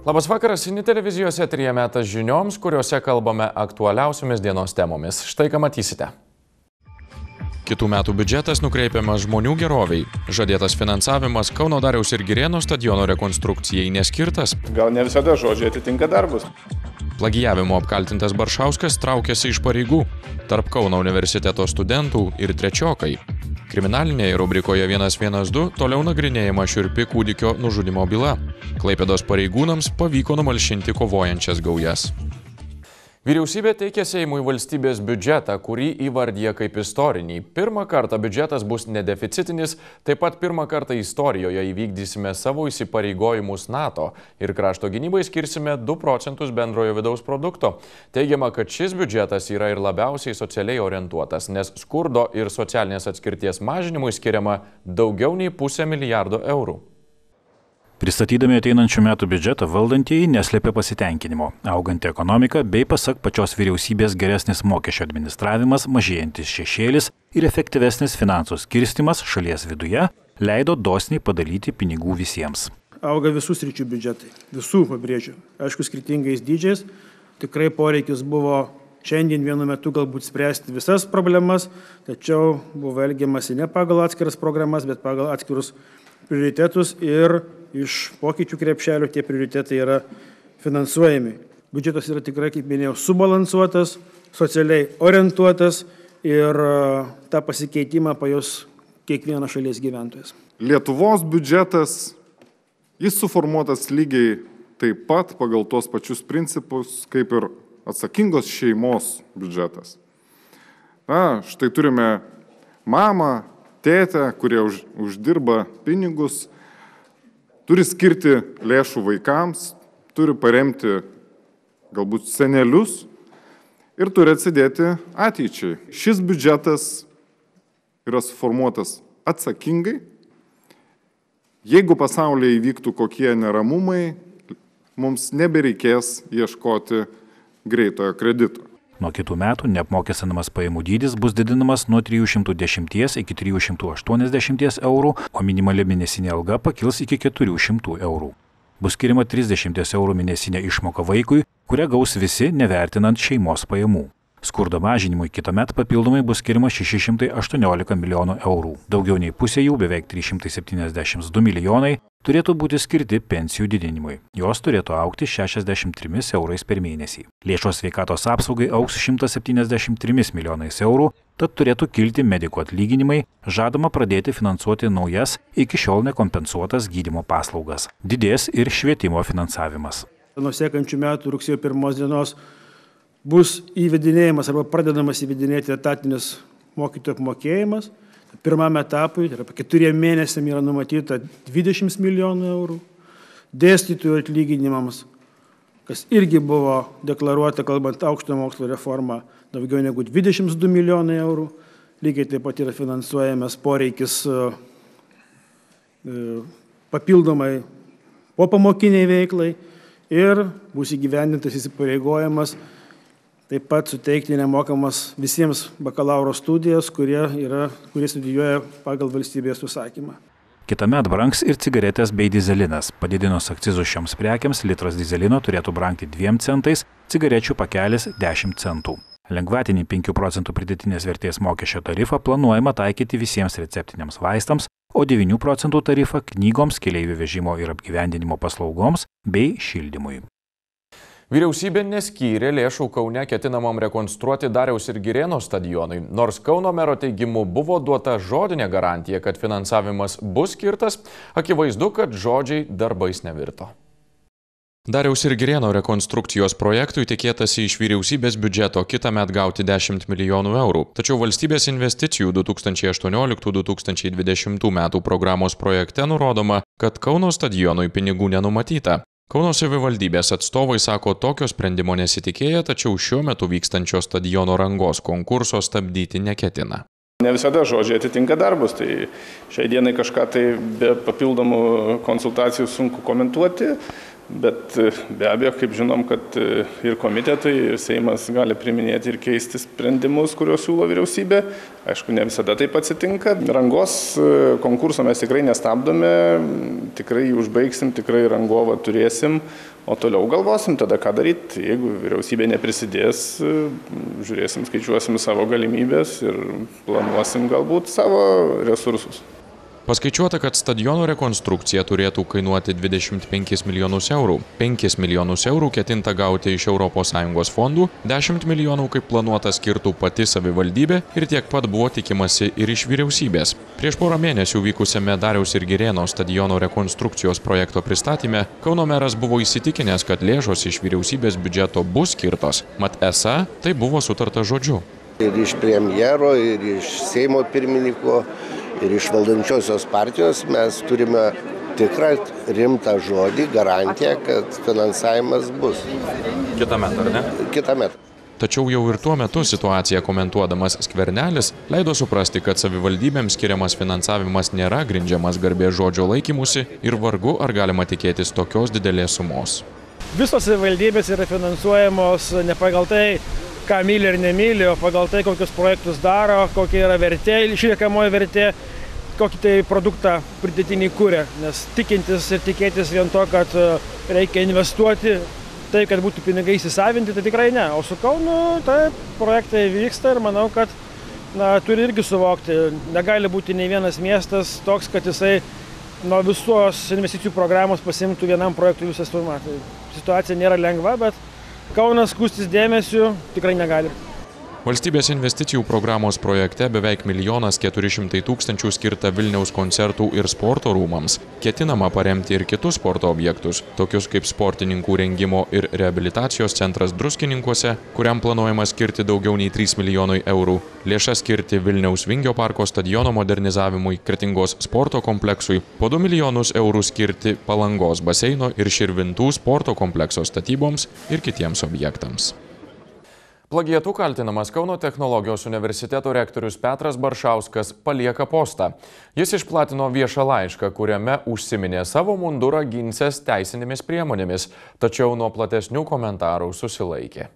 Labas vakaras, Ini televizijos eteryje metas žinioms, kuriuose kalbame aktualiausiomis dienos temomis. Štai ką matysite. Kitų metų biudžetas nukreipiamas žmonių geroviai. Žadėtas finansavimas Kauno Dariaus ir Girėno stadiono rekonstrukcijai neskirtas. Gal ne visada žodžiai atitinka darbus. Plagijavimo apkaltintas Baršauskas traukiasi iš pareigų. Tarp Kauno universiteto studentų ir trečiokai. Kriminalinėje rubrikoje 112 toliau nagrinėjama šiurpi kūdikio nužudimo byla. Klaipėdos pareigūnams pavyko numalšinti kovojančias gaujas. Vyriausybė teikia Seimui valstybės biudžetą, kurį įvardyja kaip istorinį. Pirmą kartą biudžetas bus nedeficitinis, taip pat pirmą kartą istorijoje įvykdysime savo įsipareigojimus NATO ir krašto gynybai skirsime 2 procentus bendrojo vidaus produkto. Teigiama, kad šis biudžetas yra ir labiausiai socialiai orientuotas, nes skurdo ir socialinės atskirties mažinimui skiriama daugiau nei 500 milijardo eurų. Pristatydami ateinančių metų biudžetą valdantieji neslėpė pasitenkinimo. Auganti ekonomika bei pasak pačios vyriausybės geresnis mokesčio administravimas, mažėjantis šešėlis ir efektyvesnis finansų skirstymas šalies viduje leido dosniai padalyti pinigų visiems. Auga visų sričių biudžetai, visų pabrėžiu, aišku, skirtingais dydžiais. Tikrai poreikis buvo šiandien vienu metu galbūt spręsti visas problemas, tačiau buvo elgiamasi ne pagal atskiras programas, bet pagal atskirus prioritetus ir iš pokyčių krepšelio tie prioritetai yra finansuojami. Biudžetas yra tikrai, kaip minėjau, subalansuotas, socialiai orientuotas ir tą pasikeitimą pajus kiekvienas šalies gyventojas. Lietuvos biudžetas, jis suformuotas lygiai taip pat pagal tuos pačius principus, kaip ir atsakingos šeimos biudžetas. Štai turime mamą, tėtę, kurie uždirba pinigus, turi skirti lėšų vaikams, turi paremti galbūt senelius ir turi atsidėti ateičiai. Šis biudžetas yra suformuotas atsakingai. Jeigu pasaulyje įvyktų kokie neramumai, mums nebereikės ieškoti greitojo kredito. Nuo kitų metų neapmokestinamas pajamų dydis bus didinamas nuo 310 iki 380 eurų, o minimali mėnesinė alga pakils iki 400 eurų. Bus skiriama 30 eurų mėnesinė išmoka vaikui, kurią gaus visi nevertinant šeimos pajamų. Skurdo mažinimui kitąmet papildomai bus skiriama 618 milijonų eurų. Daugiau nei pusė jų, beveik 372 milijonai, turėtų būti skirti pensijų didinimui. Jos turėtų augti 63 eurais per mėnesį. Lėšos sveikatos apsaugai augs 173 milijonais eurų, tad turėtų kilti medikų atlyginimai, žadama pradėti finansuoti naujas, iki šiol nekompensuotas gydymo paslaugas. Didės ir švietimo finansavimas. Nuo sekančių metų rugsėjo 1 dienos bus įvedinėjimas arba pradedamas įvedinėti etatinis mokytojų apmokėjimas. Pirmam etapui, tai yra 4 mėnesiam yra numatyta 20 milijonų eurų. Dėstytojų atlyginimams, kas irgi buvo deklaruota, kalbant aukštojo mokslo reformą, daugiau negu 22 milijonai eurų. Lygiai taip pat yra finansuojamas poreikis papildomai popamokiniai veiklai ir bus įgyvendintas įsipareigojimas taip pat suteikti nemokamas visiems bakalauro studijas, kurie studijuoja pagal valstybės užsakymą. Kitąmet brangs ir cigaretės bei dizelinas. Padidinus akcizus šioms prekiams, litras dizelino turėtų brangti 2 centais, cigarečių pakelis 10 centų. Lengvatinį 5 procentų pridėtinės vertės mokesčio tarifą planuojama taikyti visiems receptiniams vaistams, o 9 procentų tarifą knygoms, keleivių vežimo ir apgyvendinimo paslaugoms bei šildymui. Vyriausybė neskyrė lėšų Kaune ketinamam rekonstruoti Dariaus ir Girėno stadionui. Nors Kauno mero teigimu buvo duota žodinė garantija, kad finansavimas bus skirtas, akivaizdu, kad žodžiai darbais nevirto. Dariaus ir Girėno rekonstrukcijos projektui tikėtasi iš vyriausybės biudžeto kitąmet gauti 10 milijonų eurų. Tačiau valstybės investicijų 2018-2020 metų programos projekte nurodoma, kad Kauno stadionui pinigų nenumatyta. Kauno savivaldybės atstovai sako, tokio sprendimo nesitikėję, tačiau šiuo metu vykstančio stadiono rangos konkurso stabdyti neketina. Ne visada žodžiai atitinka darbus, tai šiai dienai kažką tai be papildomų konsultacijų sunku komentuoti. Bet be abejo, kaip žinom, kad ir komitetai, ir Seimas gali priiminėti ir keisti sprendimus, kuriuos siūlo vyriausybė. Aišku, ne visada taip atsitinka. Rangos konkurso mes tikrai nestabdome, tikrai jį užbaigsim, tikrai rangovą turėsim, o toliau galvosim tada, ką daryti. Jeigu vyriausybė neprisidės, žiūrėsim, skaičiuosim savo galimybės ir planuosim galbūt savo resursus. Paskaičiuota, kad stadiono rekonstrukcija turėtų kainuoti 25 milijonus eurų. 5 milijonus eurų ketinta gauti iš ES fondų, 10 milijonų kaip planuota skirtų pati savivaldybė ir tiek pat buvo tikimasi ir iš vyriausybės. Prieš porą mėnesių vykusiame Dariaus ir Girėno stadiono rekonstrukcijos projekto pristatyme Kauno meras buvo įsitikinęs, kad lėšos iš vyriausybės biudžeto bus skirtos, mat esą tai buvo sutarta žodžiu. Ir iš premjero, ir iš Seimo pirmininko, ir iš valdančiosios partijos mes turime tikrą rimtą žodį, garantiją, kad finansavimas bus. Kitąmet, ar ne? Kitąmet. Tačiau jau ir tuo metu situaciją komentuodamas Skvernelis leido suprasti, kad savivaldybėms skiriamas finansavimas nėra grindžiamas garbės žodžio laikymusi ir vargu ar galima tikėtis tokios didelės sumos. Visos savivaldybės yra finansuojamos ne pagal tai, ką myli ir nemyli, o pagal tai, kokius projektus daro, kokia yra vertė, išliekamoji vertė, kokį tai produktą pridėtinį kūrė. Nes tikintis ir tikėtis vien to, kad reikia investuoti, tai, kad būtų pinigai įsisavinti, tai tikrai ne. O su Kaunu tai projektai vyksta ir manau, kad turi irgi suvokti. Negali būti nei vienas miestas toks, kad jisai nuo visos investicijų programos pasimtų vienam projektui visą sumą. Tai situacija nėra lengva, bet Kaunas skųstis dėmesiu tikrai negali. Valstybės investicijų programos projekte beveik 1 400 000 skirta Vilniaus koncertų ir sporto rūmams. Ketinama paremti ir kitus sporto objektus, tokius kaip sportininkų rengimo ir reabilitacijos centras Druskininkuose, kuriam planuojama skirti daugiau nei 3 milijonai eurų. Lėšas skirti Vilniaus Vingio parko stadiono modernizavimui, Kretingos sporto kompleksui, po 2 milijonus eurų skirti Palangos baseino ir Širvintų sporto komplekso statyboms ir kitiems objektams. Plagiatu kaltinamas Kauno technologijos universiteto rektorius Petras Baršauskas palieka postą. Jis išplatino viešą laišką, kuriame užsiminė savo mundurą ginsias teisinėmis priemonėmis, tačiau nuo platesnių komentarų susilaikė.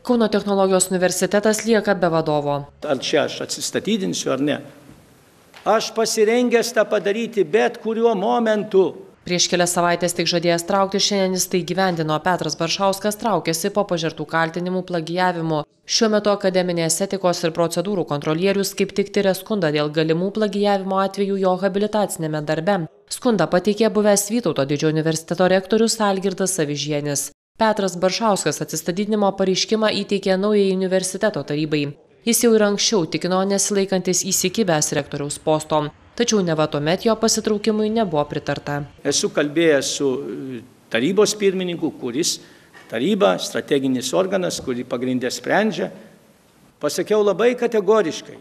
Kauno technologijos universitetas lieka be vadovo. Ar čia aš atsistatydinsiu ar ne? Aš pasirengęs tą padaryti bet kuriuo momentu. Prieš kelias savaitės tik žadėjęs traukti, šiandien jis tai gyvendino. Petras Baršauskas traukėsi po pažertų kaltinimų plagijavimu. Šiuo metu akademinės etikos ir procedūrų kontrolierius kaip tik tiria skundą dėl galimų plagijavimo atvejų jo habilitacinėme darbe. Skundą pateikė buvęs Vytauto Didžiojo universiteto rektorius Algirdas Avižienis. Petras Baršauskas atsistatydinimo pareiškimą įteikė naujai universiteto tarybai. Jis jau ir anksčiau tikino nesilaikantis įsikibęs rektoriaus posto. Tačiau neva tuomet jo pasitraukimui nebuvo pritarta. Esu kalbėjęs su tarybos pirmininku, kuris taryba, strateginis organas, kurį pagrindė sprendžia. Pasakiau labai kategoriškai.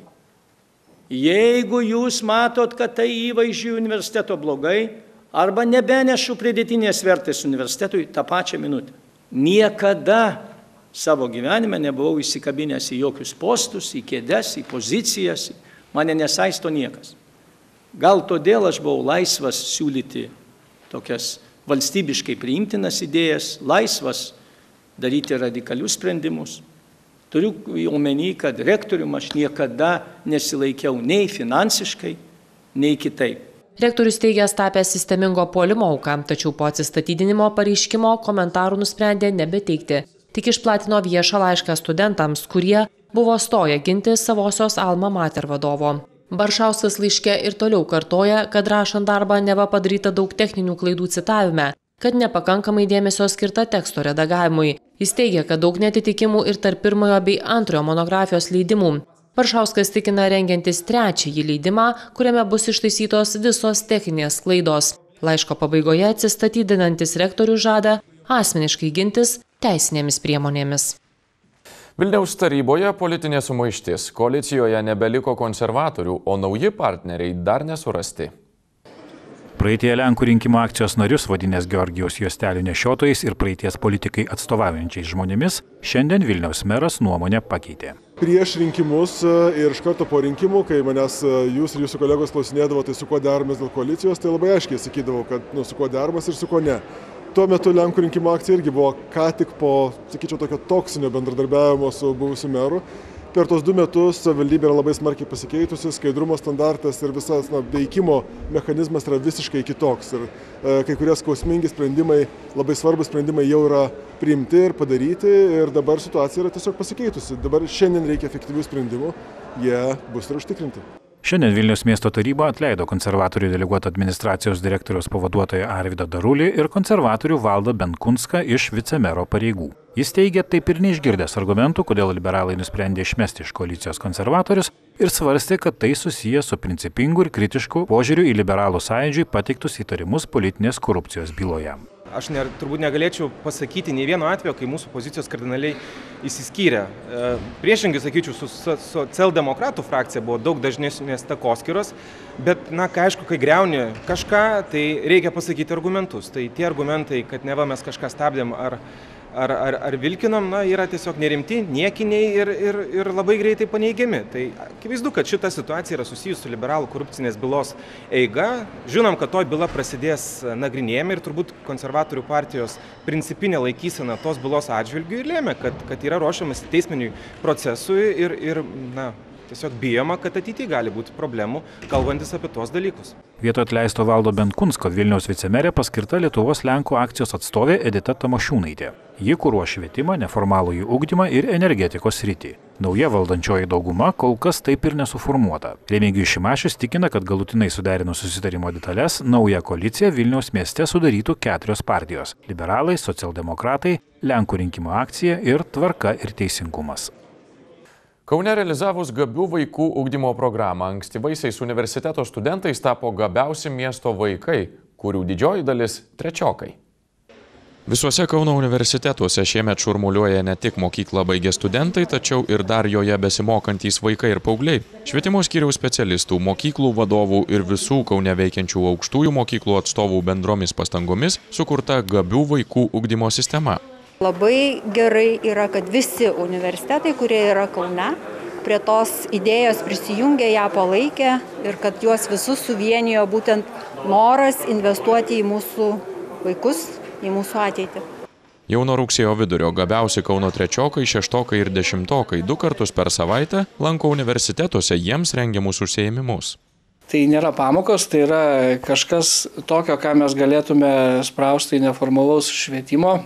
Jeigu jūs matot, kad tai įvaizdžiui universiteto blogai, arba nebenešu pridėtinės vertės universitetui tą pačią minutę. Niekada savo gyvenime nebuvau įsikabinęs į jokius postus, į kėdes, į pozicijas. Mane nesaisto niekas. Gal todėl aš buvau laisvas siūlyti tokias valstybiškai priimtinas idėjas, laisvas daryti radikalius sprendimus. Turiu omeny, kad rektorium aš niekada nesilaikiau nei finansiškai, nei kitaip. Rektorius teigęs tapęs sistemingo puolimo auka, tačiau po atsistatydinimo pareiškimo komentarų nusprendė nebeteikti. Tik išplatino viešą laišką studentams, kurie buvo stoję ginti savosios Alma Mater vadovo. Baršauskas laiške ir toliau kartoja, kad rašant darbą neva padaryta daug techninių klaidų citavime, kad nepakankamai dėmesio skirta teksto redagavimui. Jis teigia, kad daug netitikimų ir tarp pirmojo bei antrojo monografijos leidimų. Baršauskas tikina rengiantis trečiąjį leidimą, kuriame bus ištaisytos visos techninės klaidos. Laiško pabaigoje atsistatydinantis rektorius žada asmeniškai gintis teisinėmis priemonėmis. Vilniaus taryboje politinė sumaištis. Koalicijoje nebeliko konservatorių, o nauji partneriai dar nesurasti. Praeitie Lenkų rinkimų akcijos narius vadinęs Georgijaus juostelių nešiotojais ir praeities politikai atstovaujančiais žmonėmis, šiandien Vilniaus meras nuomonę pakeitė. Prieš rinkimus ir iš karto po rinkimų, kai manęs jūs ir jūsų kolegos klausinėdavo, tai su kuo deramės dėl koalicijos, tai labai aiškiai sakydavau, kad su kuo deramas ir su kuo ne. Tuo metu Lenkų rinkimų akcija irgi buvo ką tik po, sakyčiau, tokio toksinio bendradarbiavimo su buvusiu meru. Per tos 2 metus savivaldybė yra labai smarkiai pasikeitusi, skaidrumo standartas ir visas veikimo mechanizmas yra visiškai kitoks. Ir kai kurie skausmingi sprendimai, labai svarbus sprendimai jau yra priimti ir padaryti ir dabar situacija yra tiesiog pasikeitusi. Dabar šiandien reikia efektyvių sprendimų, jie bus ir užtikrinti. Šiandien Vilniaus miesto taryba atleido konservatorių deleguotą administracijos direktoriaus pavaduotoją Arvydą Darulį ir konservatorių Valdą Benkunską iš vicemero pareigų. Jis teigia taip ir neišgirdęs argumentų, kodėl liberalai nusprendė išmesti iš koalicijos konservatorius ir svarstė, kad tai susiję su principingu ir kritišku požiūriu į liberalų sąjūdžiui pateiktus įtarimus politinės korupcijos byloje. Aš turbūt negalėčiau pasakyti nei vieno atvejo, kai mūsų pozicijos kardinaliai išsiskyrė. Priešingai, sakyčiau, su socialdemokratų frakcija buvo daug dažnesnės takoskyros, bet, aišku, kai griauni kažką, tai reikia pasakyti argumentus. Tai tie argumentai, kad neva mes kažką stabdėm ar vilkinom, yra tiesiog nerimti, niekiniai ir labai greitai paneigiami. Tai akivaizdu, kad šita situacija yra susijusi su liberalų korupcinės bylos eiga. Žinom, kad toj byla prasidės nagrinėjami ir turbūt konservatorių partijos principinė laikysena tos bylos atžvilgių ir lėmė, kad yra ruošiamas teisminiui procesui ir tiesiog bijoma, kad ateityje gali būti problemų, kalbantis apie tuos dalykus. Vietoj atleisto Valdo Benkunsko Vilniaus vicemerė paskirta Lietuvos Lenkų akcijos atstovė Edita Tamošiūnaitė. Ji kuruoja švietimą, neformalųjį ugdymą ir energetikos sritį. Nauja valdančioji dauguma kol kas taip ir nesuformuota. Remigijus Šimašius tikina, kad galutinai suderinus susitarimo detalės, naują koaliciją Vilniaus mieste sudarytų 4 partijos – liberalai, socialdemokratai, Lenkų rinkimų akcija ir Tvarka ir teisingumas. Kaune realizavus gabių vaikų ugdymo programą, ankstyvaisiais universiteto studentais tapo gabiausi miesto vaikai, kurių didžioji dalis trečiokai. Visuose Kauno universitetuose šiemet šurmuliuoja ne tik mokyklą baigę studentai, tačiau ir dar joje besimokantys vaikai ir paaugliai. Švietimo skyriaus specialistų, mokyklų vadovų ir visų Kaune veikiančių aukštųjų mokyklų atstovų bendromis pastangomis sukurta gabių vaikų ugdymo sistema. Labai gerai yra, kad visi universitetai, kurie yra Kaune, prie tos idėjos prisijungė, ją palaikė ir kad juos visus suvienijo būtent noras investuoti į mūsų vaikus, į mūsų ateitį. Jau nuo rugsėjo vidurio gabiausi Kauno trečiokai, šeštokai ir dešimtokai 2 kartus per savaitę lanko universitetuose jiems rengiamus užsiėmimus. Tai nėra pamokos, tai yra kažkas tokio, ką mes galėtume sprausti į neformalaus švietimo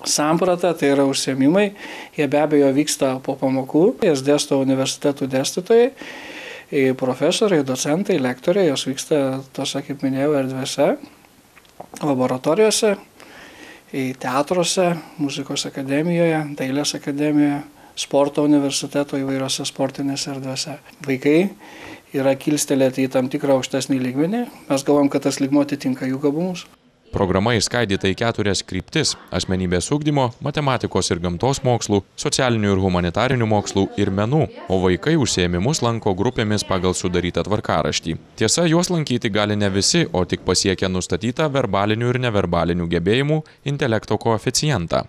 samprata, tai yra užsiėmimai, jie be abejo vyksta po pamokų, jas dėsto universitetų dėstytojai, profesoriai, docentai, lektoriai, jos vyksta tose, kaip minėjau, erdvėse, laboratorijose, teatruose, muzikos akademijoje, dailės akademijoje, sporto universiteto įvairiose sportinėse erdvėse. Vaikai yra kilstelėti į tam tikrą aukštesnį lygmenį, mes galvom, kad tas lygmuo atitinka jų gabumus. Programa išskaidyta į 4 kryptis – asmenybės ugdymo, matematikos ir gamtos mokslų, socialinių ir humanitarinių mokslų ir menų, o vaikai užsiėmimus lanko grupėmis pagal sudarytą tvarkaraštį. Tiesa, juos lankyti gali ne visi, o tik pasiekę nustatytą verbalinių ir neverbalinių gebėjimų intelekto koeficientą.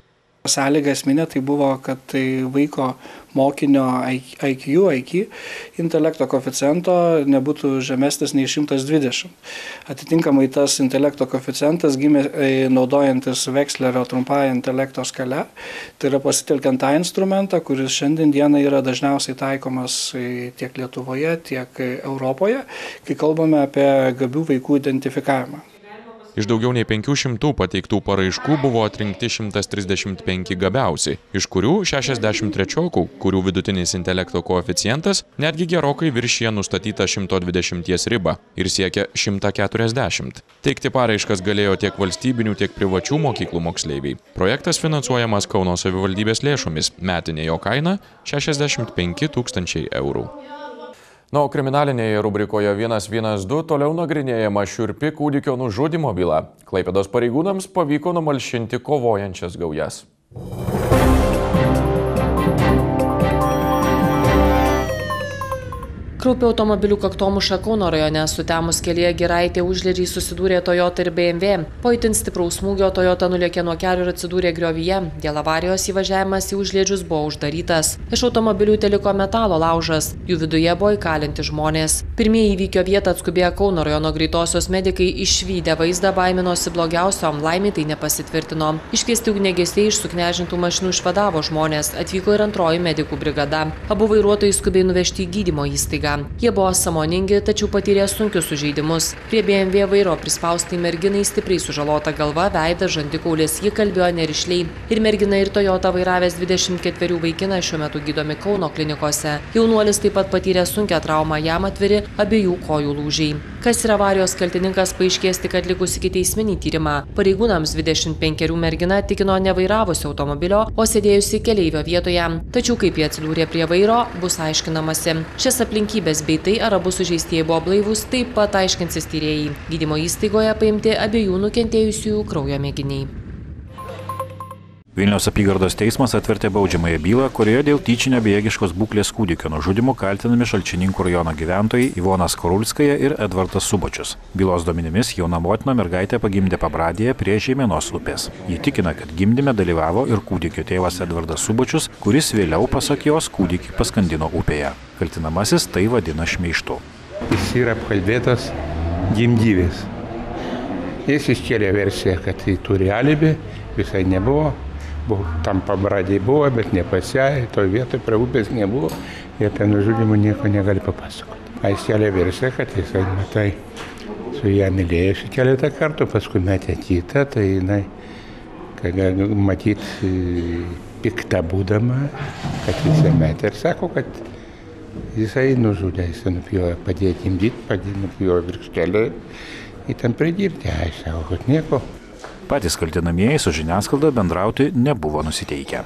Sąlyga esminė tai buvo, kad tai vaiko mokinio IQ intelekto koeficiento nebūtų žemesnis nei 120. Atitinkamai tas intelekto koeficientas gimė naudojantis Vekslerio trumpąją intelekto skale. Tai yra pasitelkiant tą instrumentą, kuris šiandien dieną yra dažniausiai taikomas tiek Lietuvoje, tiek Europoje, kai kalbame apie gabių vaikų identifikavimą. Iš daugiau nei 500 pateiktų paraiškų buvo atrinkti 135 gabiausi, iš kurių 60 trečiokų, kurių vidutinis intelekto koeficientas netgi gerokai viršija nustatytą 120 ribą ir siekia 140. Teikti paraiškas galėjo tiek valstybinių, tiek privačių mokyklų moksleiviai. Projektas finansuojamas Kauno savivaldybės lėšomis, metinė jo kaina 65 000 eurų. Na, o kriminalinėje rubrikoje 112 toliau nagrinėjama šiurpi kūdikio nužudymo byla. Klaipėdos pareigūnams pavyko numalšinti kovojančias gaujas. Kraupi automobilių kaktomuša Kauno rajone, sutemus kelyje Giraitė Užliedžiai susidūrė Toyota ir BMW. Po itin stipraus smūgio Toyota nulėkė nuo kelio ir atsidūrė griovyje. Dėl avarijos įvažiavimas į Užliedžius buvo uždarytas. Iš automobilių teliko metalo laužas. Jų viduje buvo įkalinti žmonės. Pirmieji įvykio vietą atskubėję Kauno rajono greitosios medikai išvydę vaizdą baiminosi blogiausio, laimiai tai nepasitvirtino. Iškviesti ugniagesiai iš suknežintų mašinų išvadavo žmonės. Atvyko ir antroji medikų brigada. Abu vairuotojai skubiai nuvežti į gydymo įstaigą. Jie buvo sąmoningi, tačiau patyrė sunkius sužeidimus. Prie BMW vairo prispaustai merginai stipriai sužalota galva, veidas, žandikaulis, ji kalbėjo nerišliai. Ir mergina ir Toyota vairavęs 24 vaikinas šiuo metu gydomi Kauno klinikose. Jaunuolis taip pat patyrė sunkią traumą, jam atviri abiejų kojų lūžiai. Kas yra avarijos kaltininkas, paaiškės tik atlikus ikiteisminį tyrimą. Pareigūnams 25 mergina tikino nevairavusi automobilio, o sėdėjusi keleivio vietoje. Tačiau kaip jie atsidūrė prie vairo, bus aiškinamasi. Šias aplinkybės bei tai, ar abu sužeistieji buvo blaivūs, taip pat aiškinsis tyrėjai. Gydymo įstaigoje paimti abiejų nukentėjusiųjų kraujo mėginiai. Vilniaus apygardos teismas atvertė baudžiamąją bylą, kurioje dėl tyčinio bejėgiškos būklės kūdikio nužudimo kaltinami Šalčininkų rajono gyventojai Ivona Skarulskaja ir Edvardas Subočius. Bylos duomenimis jauna motina mergaitę pagimdė Pabradėje prie Žeimenos upės. Ji tikina, kad gimdyme dalyvavo ir kūdikio tėvas Edvardas Subočius, kuris vėliau, pasak jos, kūdikį paskandino upėje. Kaltinamasis tai vadina šmeižtu. Jis yra apkalbėtas gimdyvės. Jis iškėlė versiją, kad tai turi alibi, visai nebuvo. Tam Pabradėje buvo, bet ne pas ją, toje vietoje prie upės nebuvo ir apie nužudimą nieko negali papasakoti. Jis kėlė versiją, kad jisai matai su ją mylėjusi keletą kartų, paskui metė kitą, tai jinai, kad matyti pikta būdama, kad jisai metė ir sako, kad jisai nužudė, jisai nupjojo padėti imdyti, nupjojo virkštelę į ten pridirbti, aš sako, kad nieko. Patys kaltinamieji su žiniasklaida bendrauti nebuvo nusiteikę.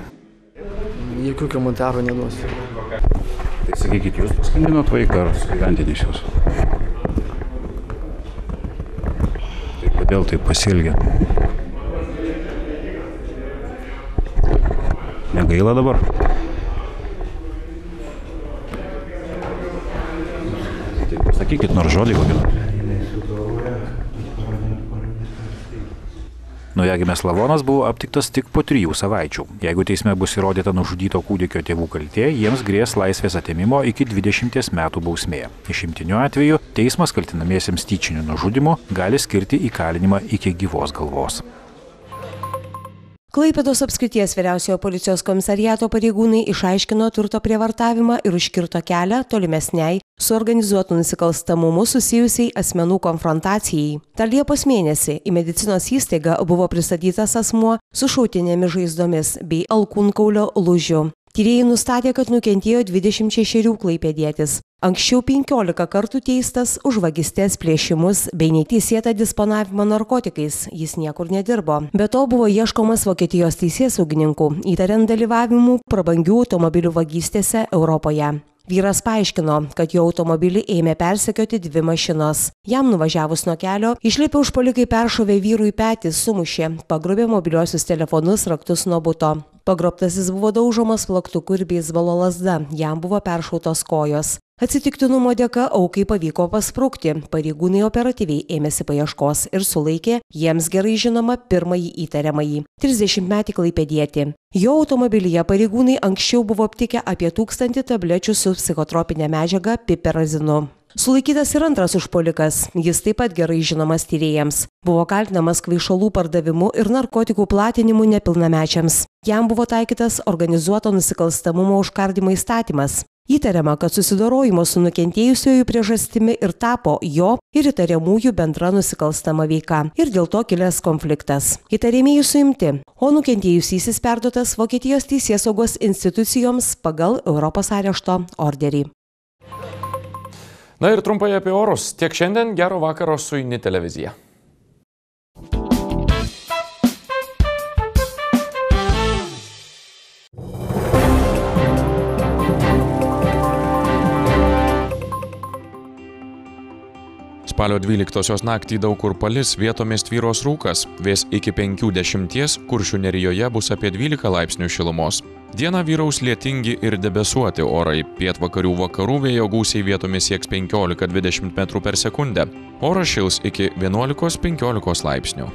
Jokių komentarų neduosiu. Tai sakykit, jūs paskandinot vaiką ar sugyventinės jūs? Tai kodėl taip pasielgė? Negaila dabar? Tai pasakykit nors žodį kokį. Naujagimės lavonas buvo aptiktas tik po 3 savaičių. Jeigu teisme bus įrodyta nužudyto kūdikio tėvų kaltė, jiems grės laisvės atėmimo iki 20 metų bausmė. Išimtiniu atveju teismas kaltinamiesiems tyčiniu nužudymu gali skirti įkalinimą iki gyvos galvos. Klaipėdos apskrities vyriausiojo policijos komisariato pareigūnai išaiškino turto prievartavimą ir užkirto kelią tolimesniai su organizuotu nusikalstamumu susijusiai asmenų konfrontacijai. Dar Liepos mėnesį į medicinos įstaigą buvo pristatytas asmuo su šautinėmis žaizdomis bei alkūnkaulio lūžiu. Tyrėjai nustatė, kad nukentėjo 26 klaipėdietis. Anksčiau 15 kartų teistas už vagystes, plėšimus bei neteisėtą disponavimą narkotikais. Jis niekur nedirbo. Be to buvo ieškomas Vokietijos teisėsaugininkų, įtariant dalyvavimu prabangių automobilių vagystėse Europoje. Vyras paaiškino, kad jo automobilį ėmė persekioti 2 mašinos. Jam nuvažiavus nuo kelio, išlipę užpuolikai peršovė vyrui petį, sumušė, pagrobė mobiliuosius telefonus, raktus nuo buto. Pagrobtasis buvo daužomas plaktuku ir beisbolo lazda, jam buvo peršautos kojos. Atsitiktinumo dėka aukai pavyko pasprukti, pareigūnai operatyviai ėmėsi paieškos ir sulaikė jiems gerai žinoma pirmąjį įtariamąjį – 30-metį klaipėdietį. Jo automobilyje pareigūnai anksčiau buvo aptikę apie 1000 tablečių su psichotropinė medžiaga piperazinu. Sulaikytas ir antras užpuolikas, jis taip pat gerai žinomas tyrėjams. Buvo kaltinamas kvaišalų pardavimu ir narkotikų platinimu nepilnamečiams. Jam buvo taikytas organizuoto nusikalstamumo užkardimo įstatymas. Įtariama, kad susidorojimo su nukentėjusiojų priežastimi ir tapo jo ir įtariamųjų bendra nusikalstama veika ir dėl to kilęs konfliktas. Įtariamieji suimti, o nukentėjusysis perduotas Vokietijos teisėsaugos institucijoms pagal Europos arešto orderį. Na ir trumpai apie orus. Tiek šiandien, gero vakaro su INI televizija. Spalio 12-osios naktį daug kur palis, vietomis tvyros rūkas, vės iki 50, Kuršių nerijoje bus apie 12 laipsnių šilumos. Dieną vyraus lietingi ir debesuoti orai, pietvakarių vakarų vėjo gūsiai vietomis sieks 15–20 m/s. Oras šils iki 11–15 laipsnių.